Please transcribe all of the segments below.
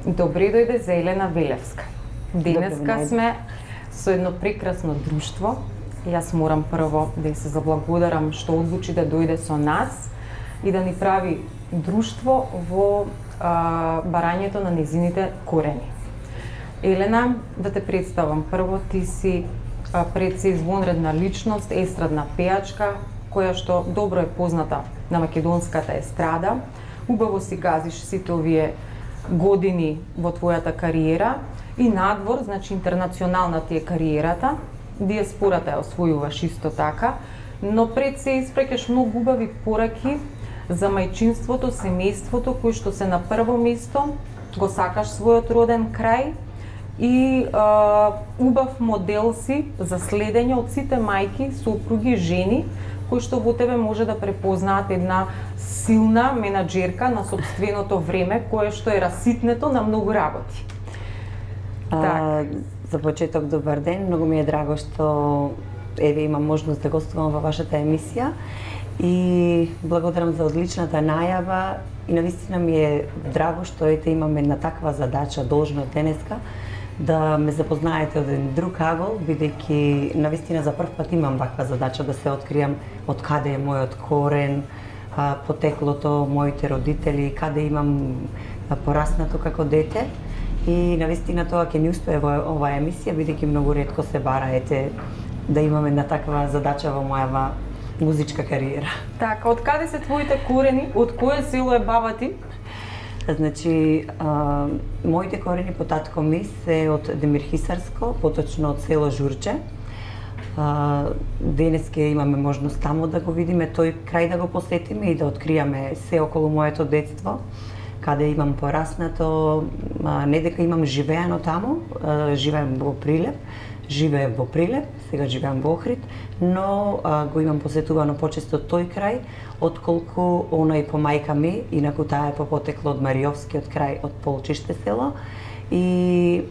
Добре дојде за Елена Велевска. Денеска сме со едно прекрасно друштво. Јас морам прво да се заблагодарам што одлучи да дојде со нас и да ни прави друштво во барањето на незините корени. Елена, да те представам. Прво, ти си пред се извонредна личност, естрадна пејачка, која што добро е позната на македонската естрада. Убаво си газиш сите овие години во твојата кариера и надвор, значи интернационална ти е кариерата, диаспората ја освојуваш исто така, но пред се испреќаш многу убави пораки за мајчинството, семејството, кои што се на прво место, го сакаш својот роден крај и убав модел си за следење од сите мајки, сопруги, жени, кои што во тебе може да препознаат една силна менаџерка на сопственото време, кое што е раситнето на многу работи. За почеток, добар ден, многу ми е драго што имам можност да гостувам во вашата емисија и благодарам за одличната најава и навистина ми е драго што имаме една таква задача, должност денеска, да ме запознаете од еден друг агол, бидејќи навистина за прв пат имам ваква задача да се откријам од каде е мојот корен, потеклото, моите родители, каде имам пораснато како дете. И навистина тоа ќе ни успее во оваа емисија, бидејќи многу ретко се бара да имаме една таква задача во мојава музичка кариера. Така, од каде се твоите корени? Од кое село е баба ти? Значи, моите корени по татко ми се од Демирхисарско, поточно од село Журче. Денес ќе имаме можност таму да го видиме тој крај, да го посетиме и да откријаме се околу моето детство, каде имам пораснато, не дека имам живеано таму, живеам во Прилеп, живеев во Прилеп, сега живеам во Охрид, но го имам посетувано почесто тој крај, отколку оној по мајка ми, инаку таа е по потекло од Мариовскиот крај, од Полчиште село. И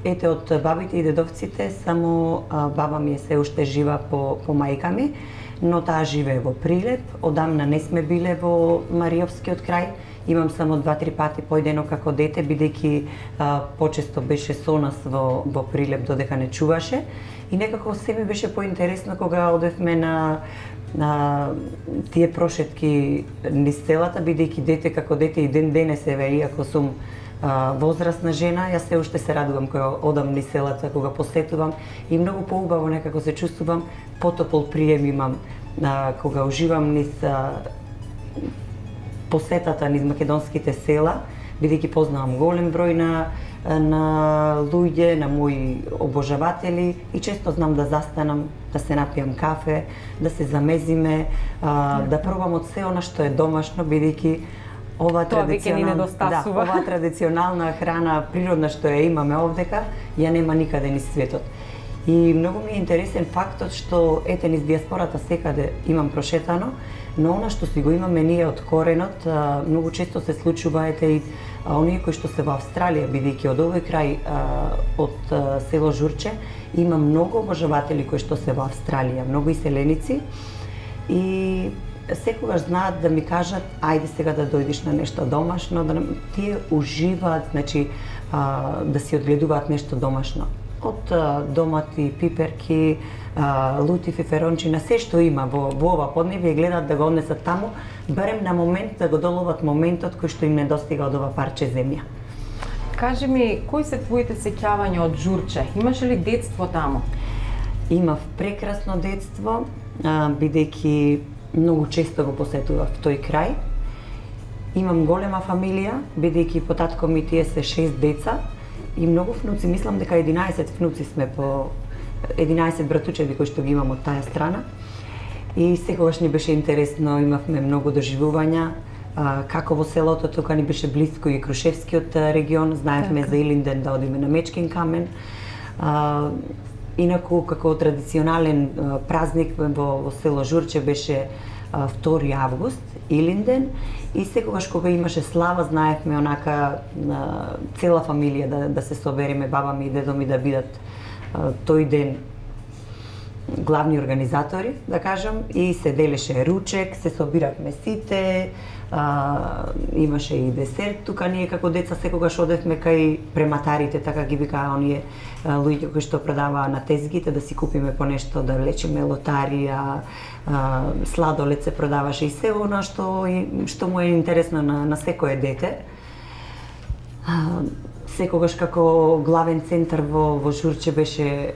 ете, од бабите и дедовците, само баба ми е се уште жива по мајка ми, но таа живее во Прилеп, одамна не сме биле во Мариовскиот крај. Имам само 2-3 пати појдено како дете, бидејќи почесто беше со нас во Прилеп додека не чуваше. И некако се ми беше поинтересно кога одевме на тие прошетки низ селата, бидејќи дете како дете и ден денес еве, иако сум возрастна жена, јас се уште се радувам кога одам низ селата, кога посетувам и многу поубаво некако се чувствувам, потопол прием имам кога уживам низ посетата низ македонските села, бидејќи познавам голем број на луѓе, на мои обожаватели и често знам да застанам, да се напијам кафе, да се замезиме, да пробам од се она што е домашно, бидејќи ова традиционална храна, природна што ја имаме овдека, ја нема никаде низ светот. И многу ми е интересен фактот што ете низ диаспората секаде имам прошетано, но она што си го имаме ние од коренот, многу често се случува и оние кои што се во Австралија, бидејќи од овој крај од село Журче има многу обожаватели кои што се во Австралија, многу иселеници и секогаш знаат да ми кажат ајде сега да дојдеш на нешто домашно, да тие уживаат, значи да си одгледуваат нешто домашно. Од домати, пиперки, лути, фиферончина, се што има во ова поднебје гледаат да го однесат таму, барем на момент да го доловат моментот кој што им недостига од ова парче земја. Кажи ми, кои се твоите сеќавања од Журче? Имаше ли детство таму? Имав прекрасно детство, бидејќи многу често го посетував тој крај. Имам голема фамилија, бидејќи по татко ми тие се 6 деца и многу внуци, мислам дека 11 внуци сме по 11 братучеви кои што ги имам од таа страна. И секогаш ни беше интересно, имавме многу доживувања, како во селото, тука ни беше близко и Крушевскиот регион, знаевме за Илинден да одиме на Мечкин камен. Инаку, како традиционален празник во село Журче беше 2 август, Илинден, и секогаш кога имаше слава, знаевме онака цела фамилија да се собереме, баба ми и дедо ми да бидат тој ден главни организатори, да кажам, и се делеше ручек, се собиравме сите, имаше и десерт тука. Ние како деца секогаш одевме кај прематарите, така ги викаа оние луѓе кои што продаваа на тезгите, да си купиме по нешто, да влечеме лотарија, сладолед се продаваше и се она што му е интересно на секое дете. Секогаш како главен центар во Журче беше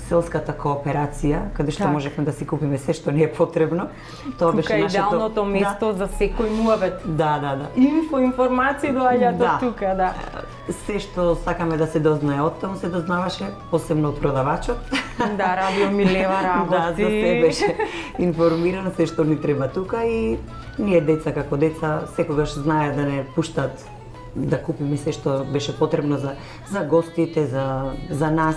селската кооперација, каде што можевме да си купиме се што ни е потребно. Тоа беше нашето идеалното место за секој муабет. Да. Информации доаѓаат од тука, да. Се што сакаме да се дознае од таму се дознаваше, посебно од продавачот. Да, Радио Милева работи. Да, за се беше информиран се што ни треба тука и ние деца како деца секогаш знае да не пуштат да купиме се што беше потребно за гостите, за нас.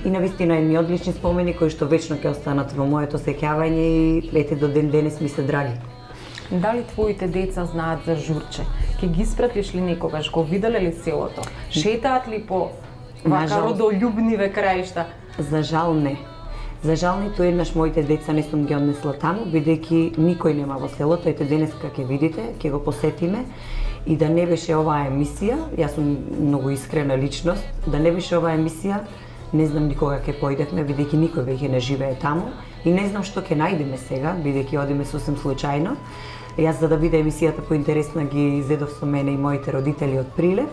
И навистина едни одлични спомени кои што вечно ќе останат во моето сеќавање и ете до ден денес ми се драги. Дали твоите деца знаат за Журче? Ке ги испратиш ли некогаш? Го виделе ли селото? Шетаат ли по вака родолюбниве краишта? За жал не. За жал ниту еднаш моите деца не сум ги однесла таму, бидејќи никој нема во селото. Ете денеска ќе видите, ќе го посетиме. И да не беше оваа емисија, јас сум многу искрена личност, да не беше оваа емисија, не знам никога ќе поидевме, бидејќи никој веќе не живее таму и не знам што ќе најдеме сега, бидејќи одиме сосем случајно. Јас за да биде емисијата поинтересна ги зедов со мене и моите родители од Прилеп.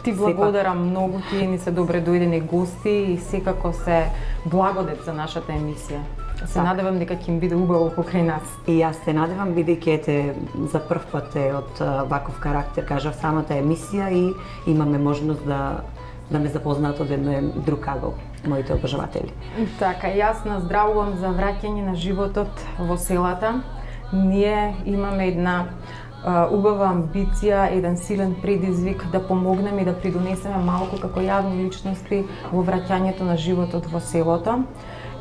Ти благодарам многу, тие ни се добре дојдени гости и секако се благодет за нашата емисија. Се надевам дека ќе им биде убаво покрај нас. И јас се надевам, бидејќи ете за прв пат е од ваков карактер, кажав, самата емисија и имаме можност да ме запознаат од еден друг агол, моите обожаватели. Така, јас наздравувам за враќање на животот во селата. Ние имаме една убава амбиција, еден силен предизвик да помогнеме и да придонесеме малку како јавни личности во враќањето на животот во селото.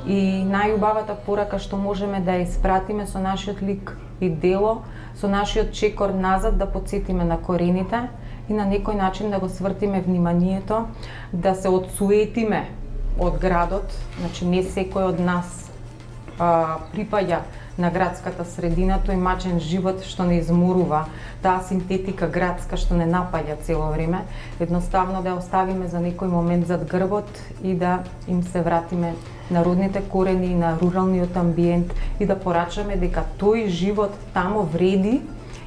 И најубавата порака што можеме да ја испратиме со нашиот лик и дело, со нашиот чекор назад да потсетиме на корените и на некој начин да го свртиме вниманието, да се одсуетиме од градот, значи не секој од нас припаѓа на градската средина, тој мачен живот што не изморува, таа синтетика градска што не напаѓа цело време, едноставно да ја оставиме за некој момент зад грбот и да им се вратиме на родните корени, на руралниот амбиент и да порачаме дека тој живот тамо вреди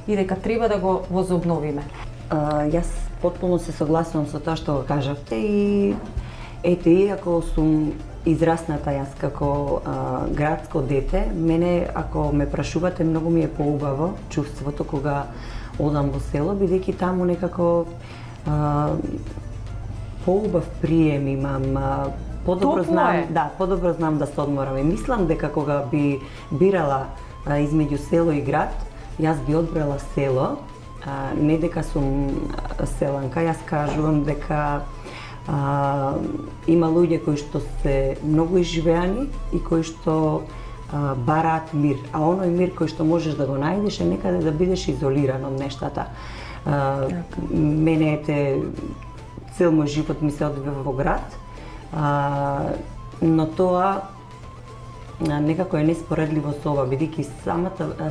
и дека треба да го возобновиме. Јас потполно се согласувам со тоа што го кажавте и ете, иако сум израсната јас како градско дете, мене ако ме прашувате многу ми е поубаво чувството кога одам во село, бидејќи таму некако поубав прием имам, подобро знам да се одморам. И мислам дека кога би бирала измеѓу село и град, јас би одбрала село, не дека сум селанка, јас кажувам дека има луѓе кои што се многу изживеани и кои што бараат мир, а оној мир кој што можеш да го најдеш е некаде да бидеш изолиран од нештата. Мене цел мој живот ми се одвива во град, но тоа некако е неспоредливо со ова, бидејќи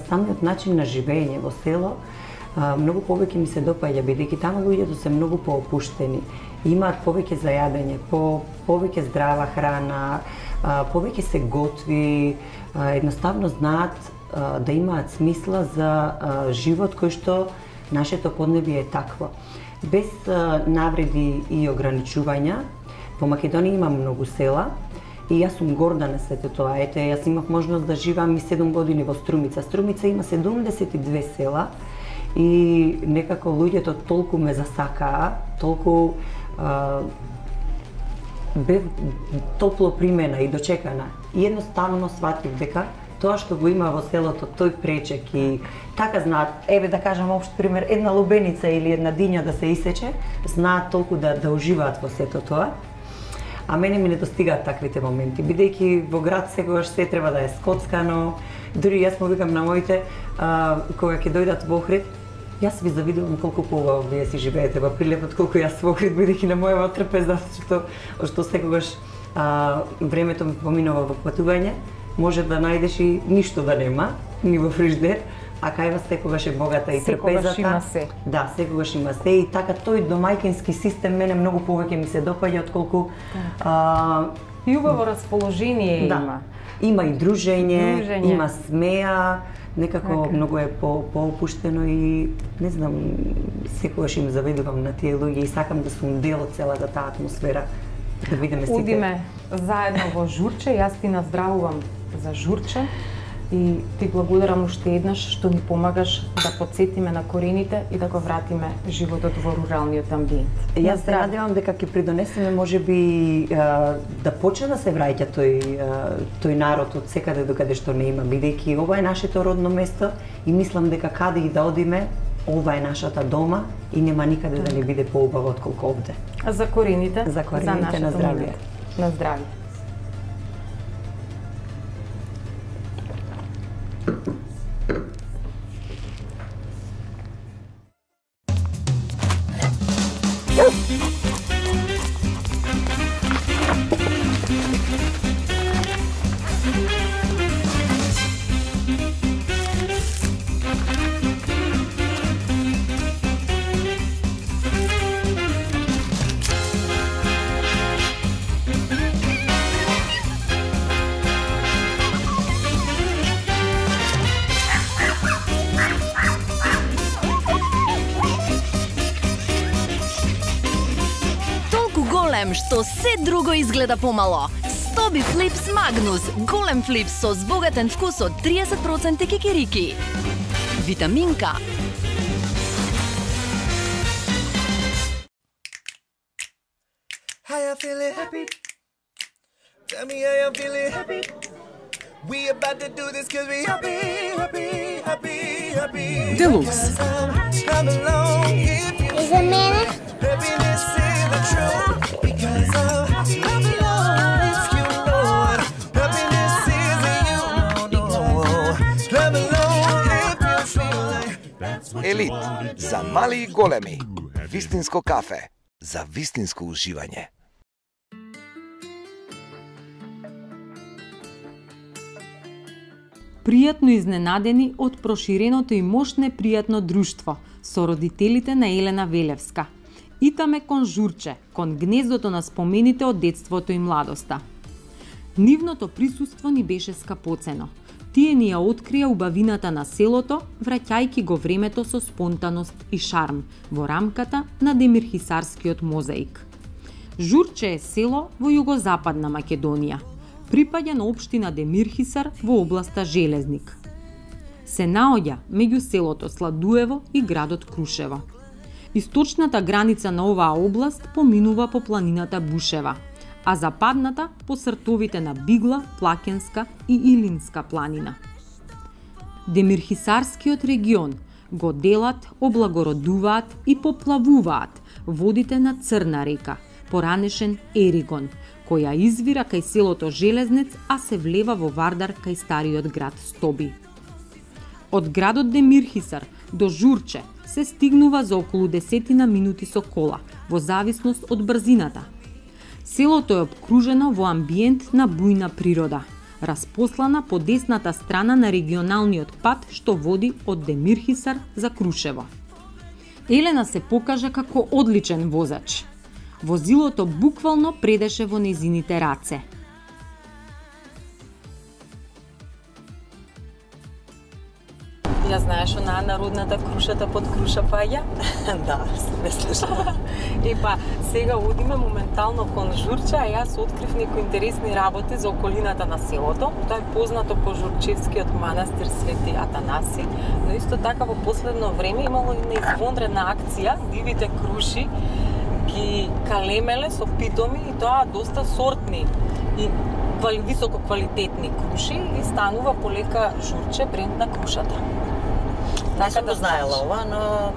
самиот начин на живење во село многу повеќе ми се допаѓа, бидејќи таму луѓето се многу поопуштени, имаат повеќе за јадење, повеќе здрава храна, повеќе се готви, едноставно знаат да имаат смисла за живот кој што нашето поднебие е такво. Без навреди и ограничувања, по Македонија има многу села и јас сум горда на сето тоа. Ете, јас имав можност да живеам и 7 години во Струмица. Струмица има 72 села и некако луѓето толку ме засакаа, толку бев топло примена и дочекана. И едноставно сватив дека тоа што го има во селото, тој пречек и така знаат, еве да кажам општ пример, една лубеница или една диња да се исече, знаат толку да уживаат во сето тоа. А мене ми недостигаат таквите моменти, бидејќи во град секогаш се треба да е скоцкано. Дури јас му викам на моите, кога ќе дојдат во Охрид, јас ви завидувам колку поубаво вие си живеете во Прилеп, колку јас во Охрид, бидејќи на мојава трпеза што секогаш времето ми поминува во патување, може да најдеш и ништо да нема, ни во фриждер, а кај вас секогаш е богата и трпезата. Секогаш има се. Да, секогаш има се и така тој домаќински систем мене многу повеќе ми се допаѓа отколку и убаво расположение има. Има и дружење, има смеа, некако многу е поопуштено и не знам, секогаш им завидувам на тие луѓе и сакам да сум дел од целата таа атмосфера. Да видиме сите. Одиме заедно во Журче, јас ти наздравувам за Журче и ти благодарам уште еднаш што ни помагаш да потсетиме на корените и да го вратиме животот во руралниот амбиент. Јас се надевам дека ќе придонесеме можеби да почне да се враќа тој народ од секаде докаде што не има, бидејќи ова е нашето родно место и мислам дека каде и да одиме, ова е нашата дома и нема никаде да не биде поубаво отколку овде. За корените, за на здравје. На здравје. Што се друго изгледа помало. Стоби флипс Магнус, голем флипс со збогатен вкус од 30% кикирики. Витаминка. How you feeling happy? Tell me how you feeling happy? We about to do this cause we happy. Deluxe. Come along if you Is it man? happiness is the truth. Because come along if you know it. Happiness is you. Come along if you feel like. Елит за мали и големи. Вистинско кафе за вистинско уживање. Пријатно изненадени од проширеното и мощно пријатно друштво со родителите на Елена Велевска. Итаме кон Журче, кон гнездото на спомените од детството и младоста. Нивното присуство ни беше скапоцено. Тие ни ја открија убавината на селото, враќајќи го времето со спонтаност и шарм во рамката на Демирхисарскиот мозаик. Журче е село во југозападна Македонија. Припаѓа на општина Демирхисар во областа Железник. Се наоѓа меѓу селото Сладуево и градот Крушево. Источната граница на оваа област поминува по планината Бушева, а западната по сртовите на Бигла, Плакенска и Илинска планина. Демирхисарскиот регион го делат, облагородуваат и поплавуваат водите на Црна река, поранешен Еригон, која извира кај селото Железнец, а се влева во Вардар кај стариот град Стоби. Од градот Демирхисар до Журче се стигнува за околу 10 минути со кола, во зависност од брзината. Селото е обкружено во амбиент на бујна природа, распослана по десната страна на регионалниот пат што води од Демирхисар за Крушево. Елена се покажа како одличен возач. Возилото буквално предеше во незините раце. Ја знаеш онаа народната крушата под круша паѓа? Да, не слушам. И па, сега одиме моментално кон Журче, а јас открив некои интересни работи за околината на селото. Тоа е познато по Журчевскиот манастир Свети Атанаси, но исто така во последно време имало и неизвонредна акција, дивите круши ги калемеле со питоми и тоа доста сортни и високо квалитетни круши и станува полека Журче бренд на крушата. Не сум го знаела ова, но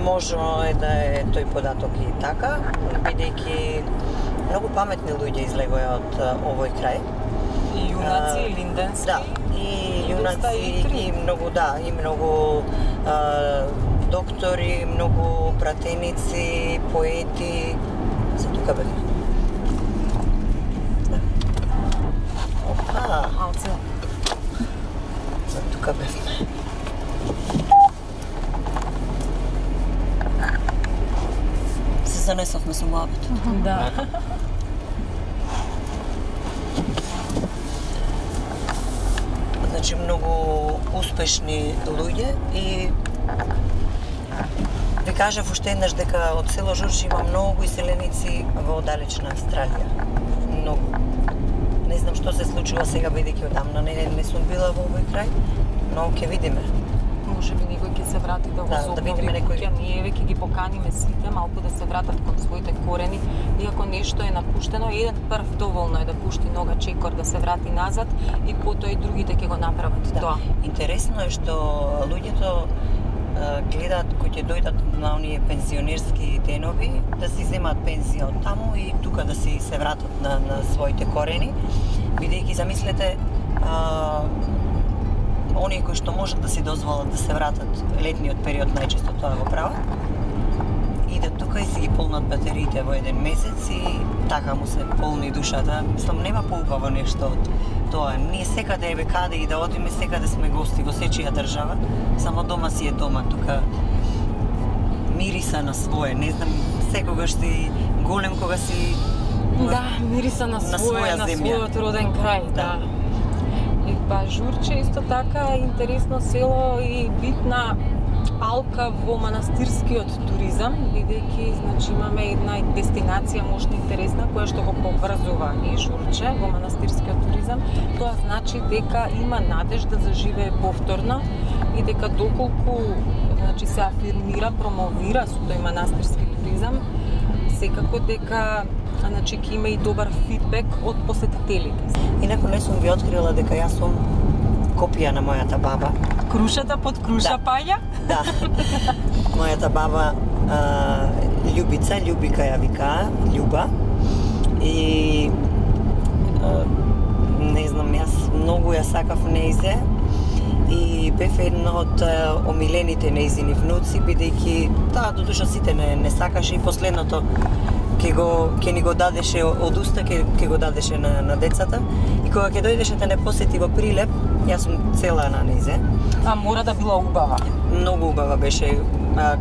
можно е да е тој податок и така, бидејќи многу паметни луѓе излегоа од овој крај. И јунаци, и линденски. Да, и јунаци, и многу, да, и многу доктори, многу пратеници, поети, се тука бега. Да. Алце. Тука бевме. Се занесовме со муабет. Да. Значи многу успешни луѓе и ви кажав уште еднаш дека од село Журче има многу иселеници во далечна Австралија. Многу. Не знам што се случува сега бидејќи одамна не сум била во овој крај, но ќе видиме. Може би некој ќе се врати да го Да видиме некој. Ние веќе ги поканиме сите малку да се вратат кон своите корени, иако нешто е напуштено, еден прв доволно е да пушти нога чекор да се врати назад и потоа и другите ќе го направат тоа. Интересно е што луѓето гледаат кои ќе дојдат на оние пензионерски денови да си земат пензија од таму и тука да си се вратат на своите корени, бидејќи замислете оние кои што можат да си дозволат да се вратат летниот период најчесто тоа го прават. Идат тука и си ги полнат батериите во еден месец и така му се полни душата. Мислам, нема поубаво нешто од тоа. Ние секаде еве каде и да одиме, секаде сме гости во сечија држава, само дома си е дома, тука мириса на свое, не знам, секогаш си голем кога си Да, мириса на своја земја. својот роден крај, да. И па Журче исто така е интересно село и битна алка во манастирскиот туризам, бидејќи значи имаме една дестинација можно интересна која што го поврзува и Журче во манастирскиот туризам. Тоа значи дека има надежда да заживее повторно и дека доколку значи се афирмира, промовира со тој манастирски туризам, секако дека значи ќе има и добар фидбек од посетителите. Инаку не сум ви открила дека јас сум копија на мојата баба. Крушата под круша паѓа? Да. Мојата баба Љубица, Љубика ја викаа, Љуба. И не знам, јас многу ја сакав неизе и бев една од омилените неизини внуци, бидејќи таа додуша сите не сакаше и последното ќе ни го дадеше од уста, ќе го дадеше на децата. И кога ќе дојдеше да не посети во Прилеп, јас сум цела на неизе. А мора да била убава. Многу убава беше.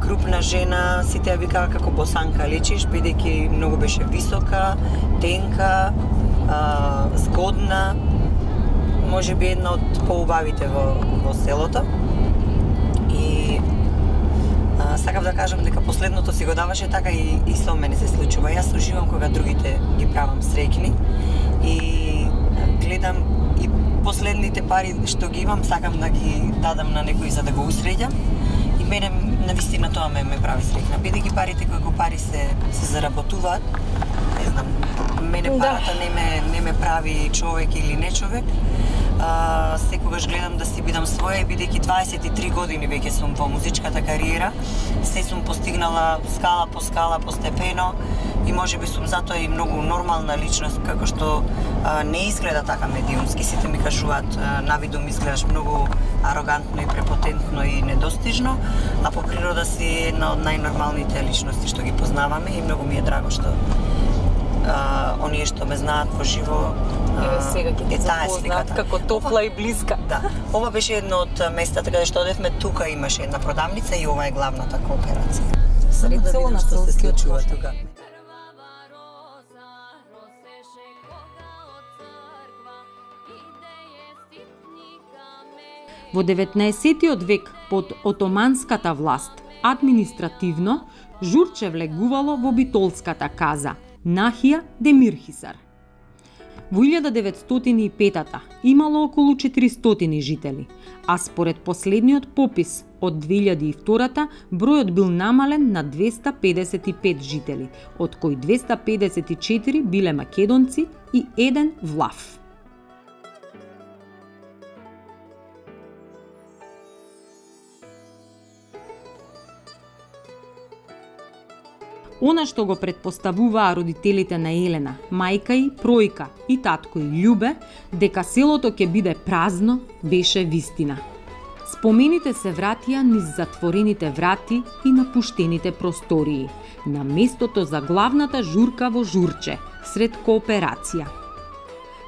Крупна жена, сите ја викаа како босанка личиш, бидејќи многу беше висока, тенка, згодна. Може би една од поубавите во селото. И сакав да кажам дека последното си го даваше така и со мене се случува. Јас уживам кога другите ги правам среќни и гледам и последните пари што ги имам сакам да ги дадам на некој за да го усреќам и мене навистина тоа ме прави среќна. Бидејќи парите кои пари се заработуваат, не знам, мене парата не ме прави човек или не човек. Секогаш гледам да си бидам своја, бидејќи 23 години веќе сум во музичката кариера, се сум постигнала скала по скала, постепено и можеби сум затоа и многу нормална личност, како што не изгледа така медиумски. Сите ми кажуваат, навидум изгледаш многу арогантно и препотентно и недостижно, а по природа си една од најнормалните личности што ги познаваме и многу ми е драго што оние што ме знаат во живо сега ќе ти запознаат како топла и блиска. Да. Ова беше едно од местата каде што одевме, тука имаше една продавница и ова е главната кооперација. Само да видим што се случува тука. Во 19-тиот век под отоманската власт, административно, Журче влегувало во битолската каза Нахија Демирхисар. Во 1905-та имало околу 400 жители, а според последниот попис од 2002-та бројот бил намален на 255 жители, од кои 254 биле македонци и еден влав. Она што го предпоставуваа родителите на Елена, мајка и Пројка и татко и Љубе, дека селото ќе биде празно, беше вистина. Спомените се вратија низ затворените врати и напуштените простории, на местото за главната журка во Журче, сред кооперација.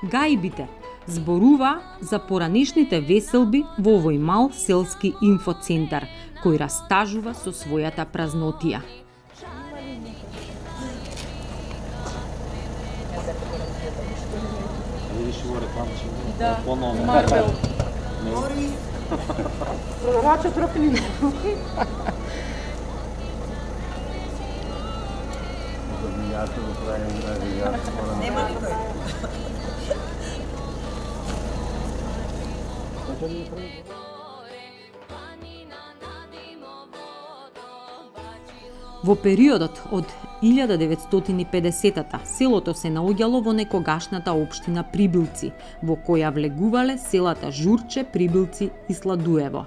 Гајбите, Зборува за поранешните веселби во овој мал селски инфоцентар, кој растажува со својата празнотија. Да, Марвел. Продавача трофилина. Нема никој. Во периодот од 1950-та селото се наоѓало во некогашната општина Прибилци, во која влегувале селата Журче, Прибилци и Сладуево.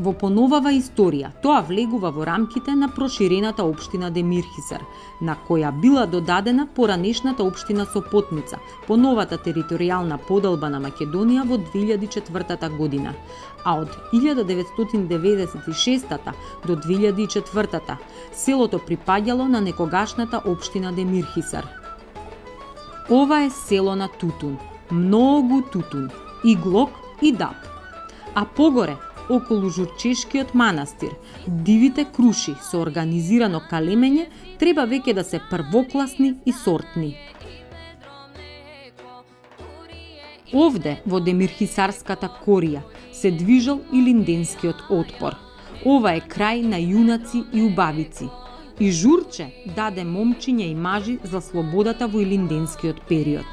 Во поновава историја, тоа влегува во рамките на проширената општина Демирхисар, на која била додадена поранешната општина Сопотница по новата територијална поделба на Македонија во 2004 година, а од 1996 до 2004 селото припаѓало на некогашната општина Демирхисар. Ова е село на тутун, многу тутун, и глок и даб. А погоре, околу Журчешкиот манастир, дивите круши со организирано калемење треба веќе да се првокласни и сортни. Овде, во Демирхисарската корија, се движел и линденскиот отпор. Ова е крај на јунаци и убавици. И Журче даде момчиња и мажи за слободата во илинденскиот период.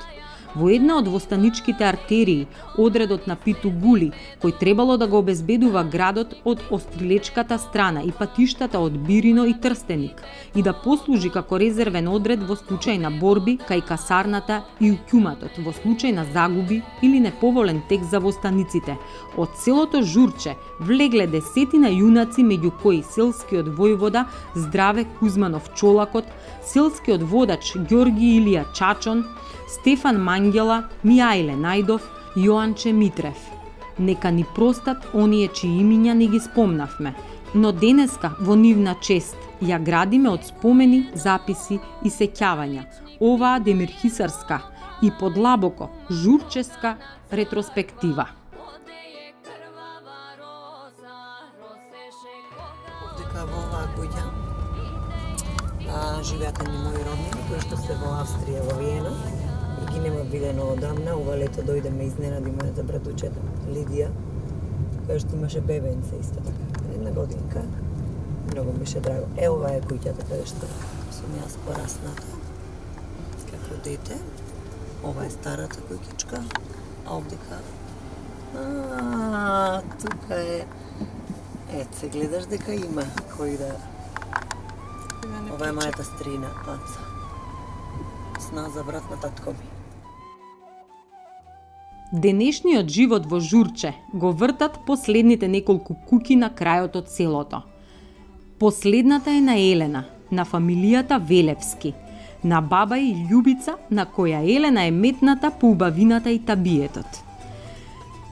Во една од востаничките артерии, одредот на Питу Гули, кој требало да го обезбедува градот од острилечката страна и патиштата од Бирино и Трстеник, и да послужи како резервен одред во случај на борби кај касарната и укјуматот, во случај на загуби или неповолен тек за востаниците. Од селото Журче влегле десетина јунаци, меѓу кои селскиот војвода Здраве Кузманов Чолакот, селскиот водач Ѓорги Илија Чачон, Стефан Мангела, Мијајле Најдов, Јоанче Митрев. Нека ни простат оние чии имиња не ги спомнавме, но денеска во нивна чест ја градиме од спомени, записи и сеќавања. Оваа демирхисарска и подлабоко журческа ретроспектива. Дека во оваа куќа живеат ни мои роднини, кои што се во Австрија, во Виена. И ги нема видено одамна. Ова лето дојде ме изненади мојата братучета Лидија, која што имаше бебенце исто така. 1 годинка. Многу ми ше драго. Ова е куќата каде што сум јас порасната како дете. Ова е старата куќичка. А овдека тука е. Се гледаш дека има кој да. Ова е мојата стрина, Аца. Сна за брат на татко ми. Денешниот живот во Журче го вртат последните неколку куќи на крајот од селото. Последната е на Елена, на фамилијата Велевски, на баба и Љубица, на која Елена е метната по убавината и табиетот.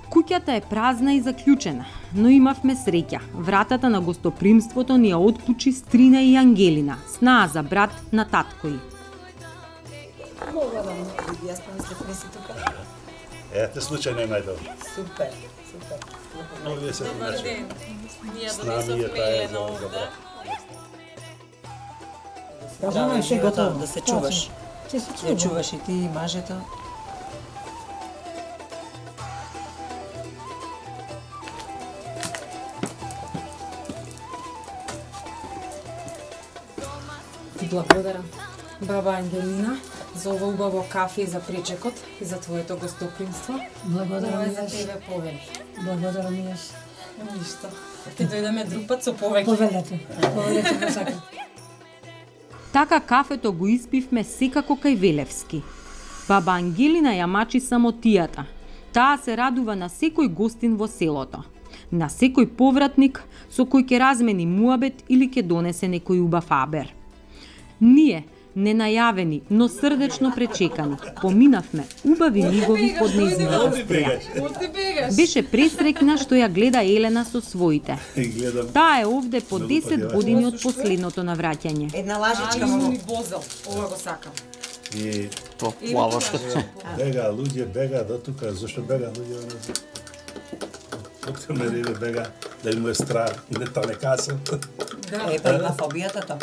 Куќата е празна и заклучена, но имавме среќа. Вратата на гостопримството ни ја отклучи Стрина и Ангелина, снаа за брат на татко ѝ. Јас помислев не си тука. Ете, случајно е најдобро. Супер, супер. Овие се Добар ден. Ние с нами е таа за добра. Кажаме ше готово да се чуваш. Ќе се Ја чуваш и ти и мажето. Ти благодарам, баба Ангелина, за ова убаво кафе и за пречекот и за твоето гостопримство. Благодарам Ова е за јас. тебе повели. Благодарам јас. Ништо. Ќе дојдеме друг пат со повеќе. Повелете го сакам. Така кафето го испивме секако кај Велевски. Баба Ангелина ја мачи самотијата. Таа се радува на секој гостин во селото. На секој повратник со кој ќе размени муабет или ќе донесе некој убав абер. Ние, ненајавени, но срдечно пречекани, поминавме убави мигови под нејзината струја. Оти бегаш. Беше пресрекна што ја гледа Елена со своите. Гледам. Таа е овде по Многу 10 пати, години од последното навраќање. Една лажичка му. ми бозел. Ова го сакам. И По плавашко. бега луѓе, бега до тука, зашто бега луѓе? Доктор Мериле бега, да им е страх, не та не касам. Па има фобијата тоа.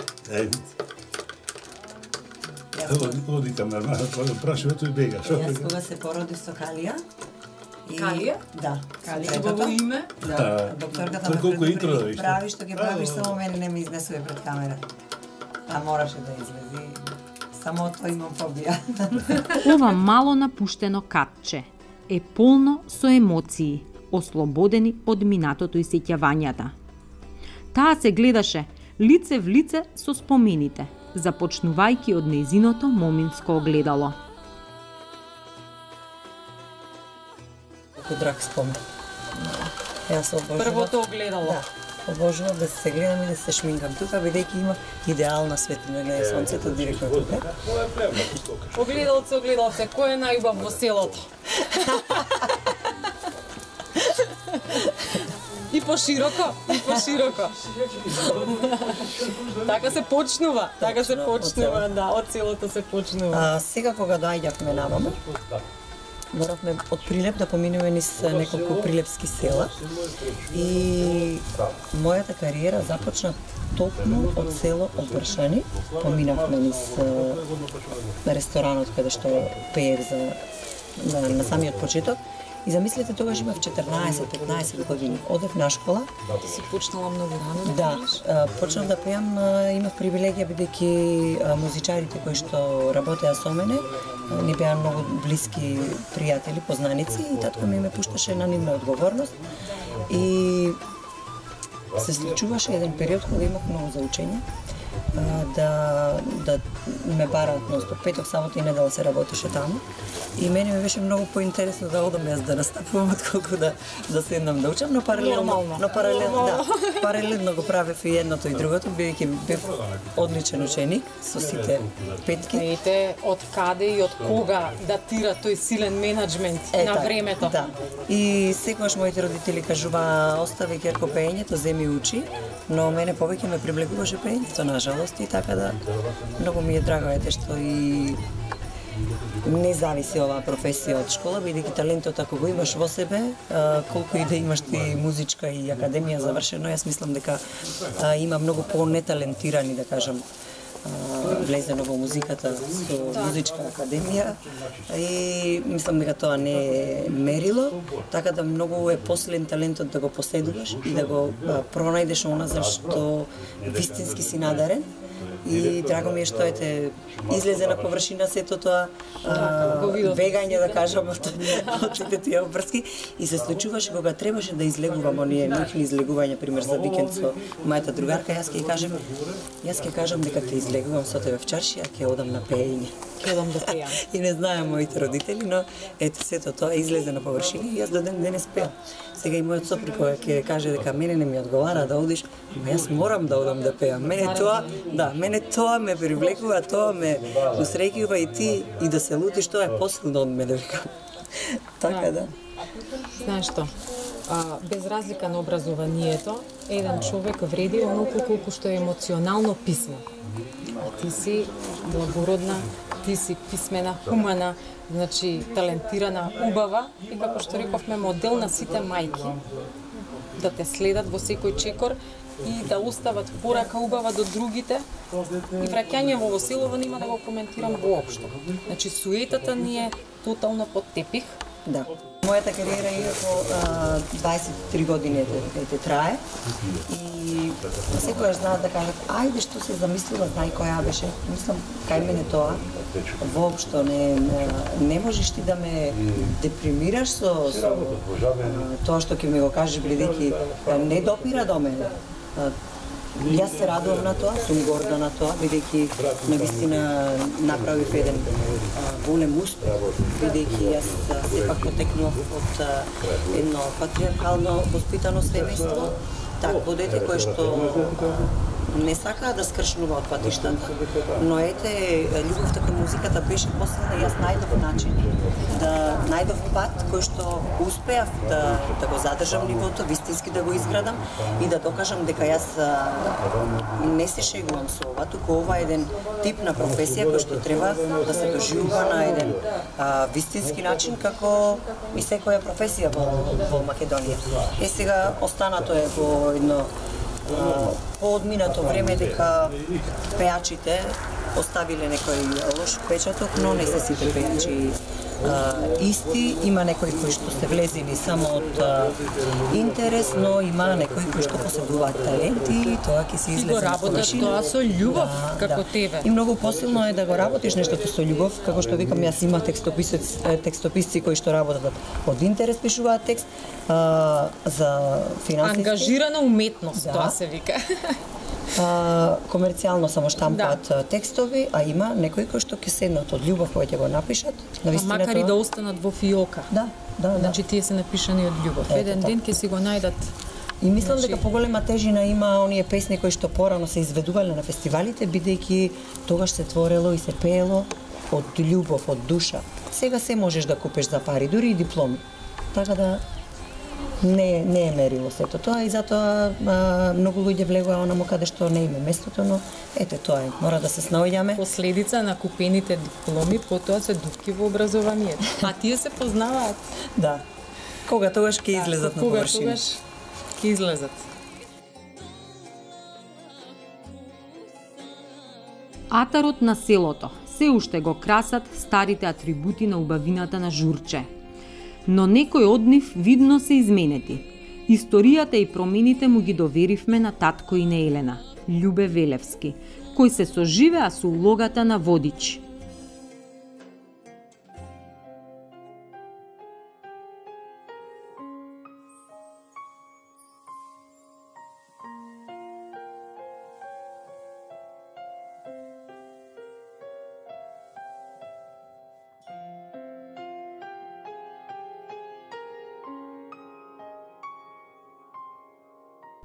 Оди към нормално, праши ето и бега. Јас кога се породи со Калија, Калија? Да. Калија убаво име? Да. Докторката ме колку интро да предупреди, виште. прави што ги правиш, само мене не ме изнесува пред камера. А мораше да излези. Само тоа имам фобија. Ова мало напуштено катче е полно со емоции, ослободени од минатото и сеќавањата. Таа се гледаше лице в лице со спомените, започнувајќи од нејзиното моминско огледало. Колку драг спомен. Јас обожувам. Првото огледало. Да. Обожувам да се гледам и да се шминкам тука, бидејќи има идеална светлина на сонцето директно тука. Огледалце, кој е најубав во селото? И пошироко. Така се почнува, да, од селото се почнува. Сега кога доаѓавме наваму, моравме од Прилеп да поминеме низ неколку прилепски села и мојата кариера започна токму од село Обршани. Поминавме низ ресторанот каде што пеев на самиот почеток. И замислете, тогаш имав 14-15 години. Одев на школа. Ти си почнала многу рано да пееш? Да, почнав да пеам, имав привилегија бидејќи музичарите кои што работеа со мене ни беа многу блиски пријатели, познаници и татко ми ме пушташе на нивна одговорност. И се случуваше еден период кога имав многу за учење, да ме бараат ностоп. Петок, сабота и недела се работеше таму. И мене ми беше многу поинтересно да одам јас да настапувам отколку да седнам да учам, но паралелно го правев и едното и другото, бидејќи бев одличен ученик со сите петки. Знаете од каде и од кога датира тој силен менаџмент на времето? Да. И секогаш моите родители кажуваа остави ќерко пеењето, земи учи, но мене повеќе ме привлекуваше пеењето, нажалост, и така да многу ми е драго ете што и не зависи оваа професија од школа, бидејќи талентот ако го имаш во себе, колку и да имаш ти музичка и академија завршено, јас мислам дека има многу по-неталентирани, да кажам, влезено во музиката со музичка академија и мислам дека тоа не е мерило, така да многу е посилен талентот да го поседуваш и да го пронајдеш она за што вистински си надарен. И драго ми е што ете излезе на површина сето тоа вегање, да кажам, од сите тие обврски, и се случуваше кога требаше да излегувам оние нивни излегувања, пример за викенд со мојата другарка, јас ќе кажам дека те излегувам со тебе в чаршија, ќе одам на пеење. Ќе одам да пеам. И не знаеа моите родители, но ете сето тоа излезе на површина и јас до ден денес пеам. Сега и мојот сопруг ќе каже дека мене не ми одговара да одиш, но јас морам да одам да пеам. Мене тоа ме привлекува, тоа ме усреќува и ти и да се лутиш, тоа е посилно од мене, викам. Така да. Знаеш што? Без разлика на образованието, еден човек вреди онолку колку што е емоционално писмен. Ти си благородна, ти си писмена, хумана, значи талентирана, убава и како што рековме модел на сите мајки. Да те следат во секој чекор и да остават порака убава до другите. И враќање во селово нема да го коментирам воопшто. Значи суетата ни е тотално под тепих. Да. Мојата кариера иако 23 години трае и секојаш знаат да кажат ајде што се замислила, знај која беше. Мислам, кај мене тоа воопшто не можеш ти да ме депримираш со тоа што ќе ми го кажеш, бидејќи не допира до мене. Јас се радувам на тоа, сум горда на тоа, бидејќи навистина направив еден голем успех, бидејќи јас сепак потекнував од едно патриархално воспитано семејство, такво дете кое што не сакаа да скршнува од патиштата, но ете, љубовта кон музиката беше посилна и јас најдов начин да најдов пат кој што успеав да го задржам нивото, вистински да го изградам и да докажам дека јас не се шегувам со ова, туку ова е еден тип на професија кој што треба да се доживува на еден вистински начин како и секоја професија во Македонија. Сега останато е во едно поодминато време дека пеачите оставиле некој лош печаток, но не се сите пеачи исти. Има некои кои што се влезени само од интерес, но има некои кои што поседуваат таленти и тоа ќе се излезе. И го работат тоа со љубов, како тебе. И многу посилно е да го работиш нештото со љубов, како што викам, јас има текстописци кои што работат од интерес, пишуваат текст за финансиски. Ангажирана уметност, тоа се вика. Комерцијално само штампаат текстови, а има некои кои што ќе седнат од љубов кои ќе го напишат. Макар и да останат во фиока. Да. Значи тие се напишани од љубов. Еден ден ќе си го најдат. И мислам дека поголема тежина има оние песни кои што порано се изведувале на фестивалите, бидејќи тогаш се творело и се пеело од љубов, од душа. Сега се можеш да купиш за пари, дури и дипломи. Така да не е мерило сето тоа и затоа многу луѓе влегува онаму каде што не име местото, но ете тоа е, мора да се снаоѓаме. Последица на купените дипломи потоа се дупки во образованието. А тие се познаваат. Да. Кога тогаш ќе излезат на површина. Кога тогаш ќе излезат. Атарот на селото се уште го красат старите атрибути на убавината на Журче. Но некои од нив видно се изменети. Историјата и промените му ги доверивме на татко и на Елена, Љубе Велевски, кој се соживеа со улогата на водич.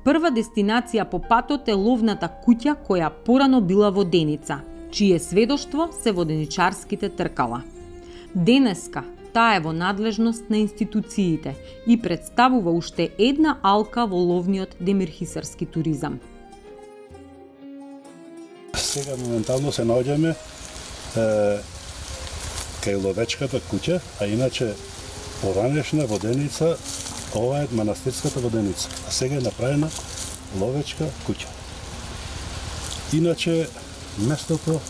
Прва дестинација по патот е ловната куќа која порано била воденица, чие сведоштво се воденичарските тркала. Денеска таа е во надлежност на институциите и представува уште една алка во ловниот демирхисарски туризам. Сега моментално се наоѓаме кај ловечката куќа, а иначе поранешна воденица, ова е манастирската воденица, а сега е направена ловечка куќа. Иначе местото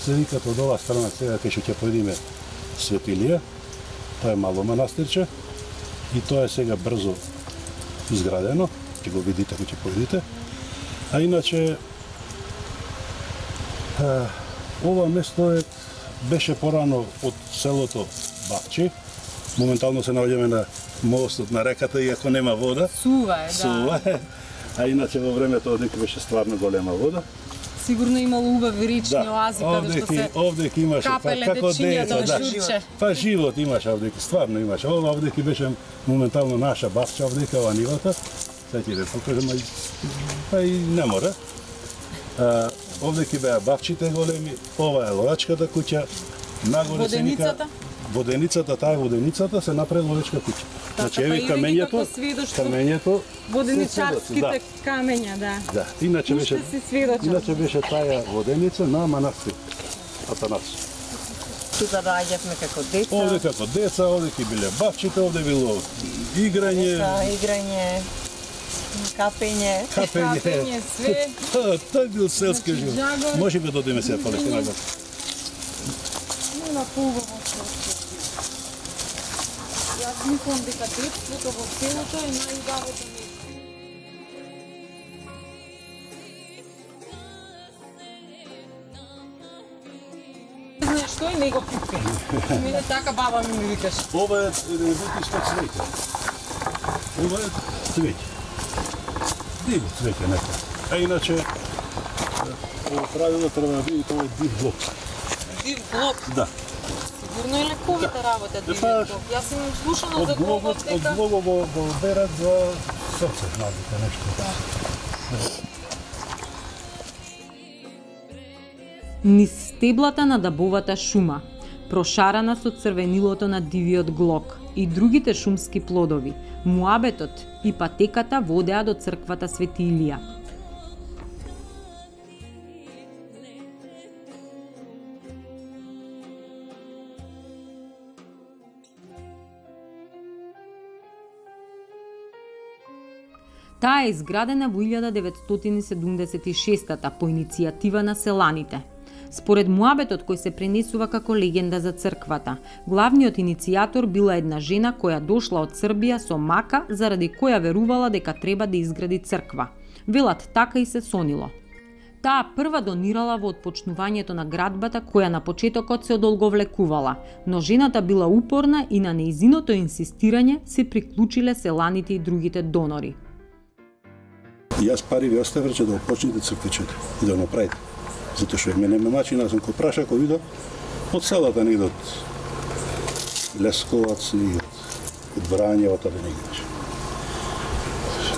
се вика од оваа страна, сега кај што ќе појдеме Светилија, тоа е мало манастирче и тоа е сега брзо изградено, ќе го видите кога ќе појдете. А иначе ова место беше порано од селото Бахчи. Моментално се наоѓаме на мостот на реката, иако нема вода. Сува е, да. Сува е. А иначе во времето одека беше стварно голема вода. Сигурно имало убави речни оази каде што се овдеки имаше како деца, да Журче. Па живот имаше овдеки, стварно имаше. Ова овдеки беше моментално наша бавча овдека во нивата. Сега ќе ве покажам, па и не мора. Овдеки беа бавчите големи, ова е ловачката куќа, нагоре се вика воденицата, таа е воденицата, се направи ловечка куќа. Значи еви камењето, воденичарските камења, да. Да, иначе беше таа воденица на манастир Атанас. Тука раѓавме како деца. Овде како деца, овде ќе биле бавчите, овде било играње, капење, све. Тоа бил селски живот. Може да додеме сега полека нагоре. Нема поубаво селски. Јас мислам дека детството во селото е најубавото место. Знаеш што и не го пипе. Мене така баба ми викаш. Ова е бутишко цвеќе. Ова е цвеќе. Диво цвеќе нека. А иначе, во правило треба да биде тоа див блок. Див блок? Да. Сигурно е лековита работа див блок. Јас имам слушано за блокот дека... Од блогот го берат за срце, набите нешто. Низ стеблата на дабовата шума, прошарана со црвенилото на дивиот глок и другите шумски плодови, муабетот и патеката водеа до црквата Свети Илија. Таа е изградена во 1976 по иницијатива на селаните. Според муабетот кој се пренесува како легенда за црквата, главниот иницијатор била една жена која дошла од Србија со мака заради која верувала дека треба да изгради црква. Велат така и се сонило. Таа прва донирала во отпочнувањето на градбата која на почетокот се одолговлекувала, но жената била упорна и на нејзиното инсистирање се приклучиле селаните и другите донори. Јас пари ви оставив че да опочнете црквичето и да направите. Затоа што мене ме мачи, аз сум кој праша, кој видов од селата негде од Лесковац и од Врање, од таде негде.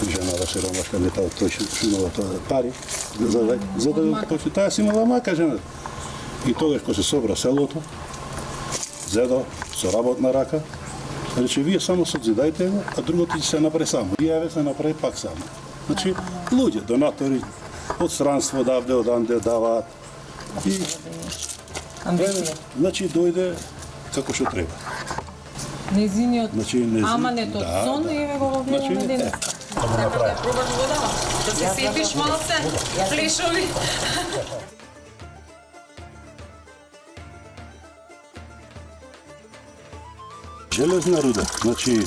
Жената сиромашка не таа тој шумала тоа пари за да почне. Таа си имала мака жената. И тогаш кога се собра селото, зедо со работна рака, рече вие само созидајте го, а другото ќе се направи само. И еве се направи пак само. Значи луѓе, донатори од странство давде, од анде даваат. И значи дојде како што треба. Незиниот аманет од да, сон и еве го во гледаме денес. Да го направи. Пробаш водава, да се сетиш малце, флешови. Железна руда, значи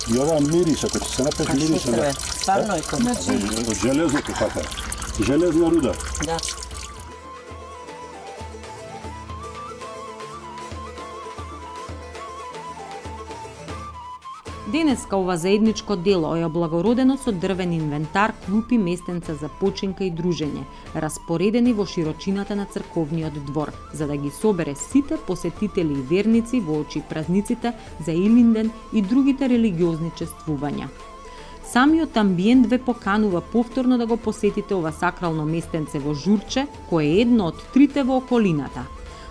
и ова мириса, кој се напеше мириса на... Стварно е тоа. Од железото така. Железна руда. Да. Денеска ова заедничко дело е облагородено со дрвен инвентар, клупи, местенца за починка и дружење, распоредени во широчината на црковниот двор, за да ги собере сите посетители и верници воочи празниците за Илинден и другите религиозни чествувања. Самиот амбиент ве поканува повторно да го посетите ова сакрално местенце во Журче, кое е едно од трите во околината.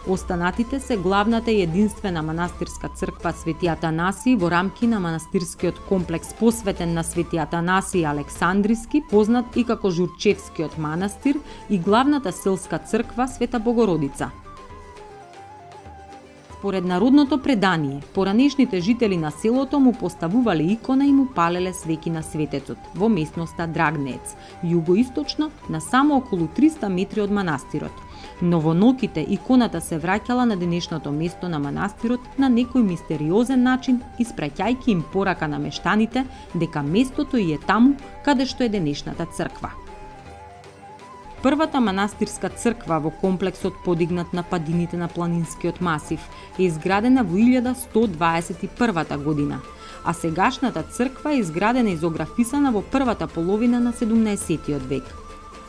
Останатите се главната и единствена манастирска црква Свети Атанасиј во рамки на манастирскиот комплекс посветен на Свети Атанасиј Александриски, познат и како Журчевскиот манастир, и главната селска црква Света Богородица. Според народното предание, поранешните жители на селото му поставувале икона и му палеле свеки на светецот во местноста Драгнеец, југоисточно на само околу 300 метри од манастирот. Но во ноќите иконата се враќала на денешното место на манастирот на некој мистериозен начин, испраќајќи им порака на мештаните дека местото и е таму каде што е денешната црква. Првата манастирска црква во комплексот подигнат на падините на планинскиот масив е изградена во 1121 година, а сегашната црква е изградена и изографисана во првата половина на 17 век.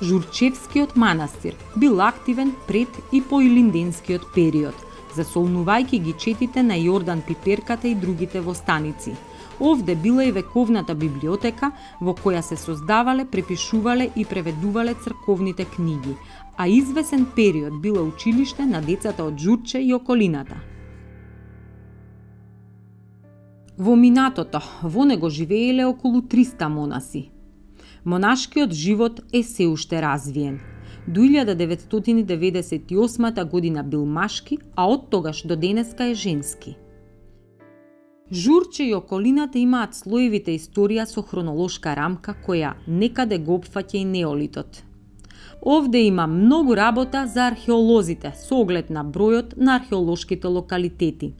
Журчевскиот манастир бил активен пред и по илинденскиот период, засолнувајќи ги четите на Јордан Пиперката и другите во станици. Овде била и вековната библиотека во која се создавале, препишувале и преведувале црковните книги, а извесен период била училиште на децата од Журче и околината. Во минатото, во него живееле околу 300 монаси. Монашкиот живот е се уште развиен. До 1998 година бил машки, а од тогаш до денеска е женски. Журче и околината имаат слоевите историја со хронолошка рамка која некаде го опфаќа и неолитот. Овде има многу работа за археолозите со оглед на бројот на археолошките локалитети.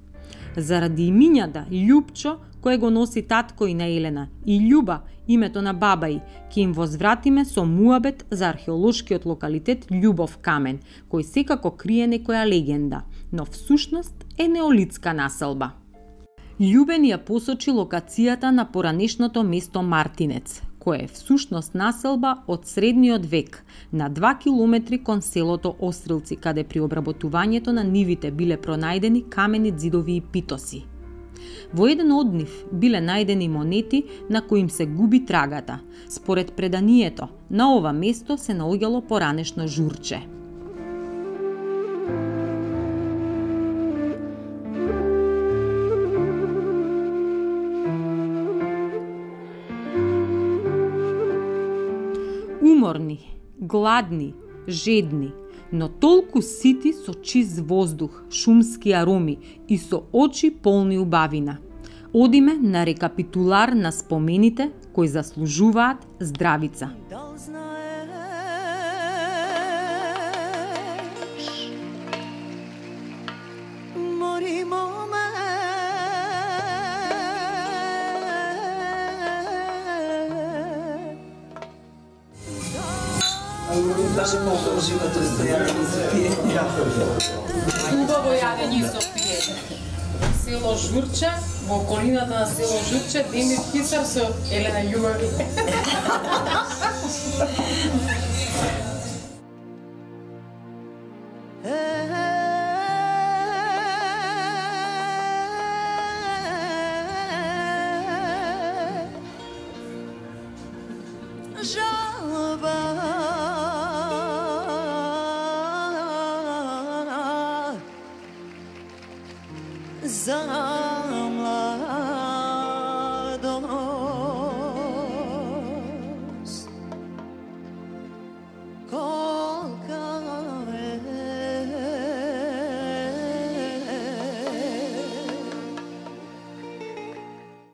Заради имињата Љупчо, кое го носи татко и на Елена, и Љуба, името на баба ѝ, ќе им возвратиме со муабет за археолошкиот локалитет Љубов камен, кој секако крие некоја легенда, но всушност е неолитска населба. Љубен ја посочи локацијата на поранешното место Мартинец, кое е всушност населба од средниот век, на 2 километри кон селото Острилци, каде при обработувањето на нивите биле пронајдени камени ѕидови и питоси. Во еден од нив биле најдени монети на кои им се губи трагата. Според преданието, на ова место се наоѓало поранешно Журче. уморни, гладни, жедни, но толку сити со чист воздух, шумски ароми и со очи полни убавина. Одиме на рекапитулар на спомените кои заслужуваат здравица. Даже по живото стојане и за пиење. Убаво јадење со пиење. Во село Журче, во околината на село Журче, Демир Хисар со Елена Југави. За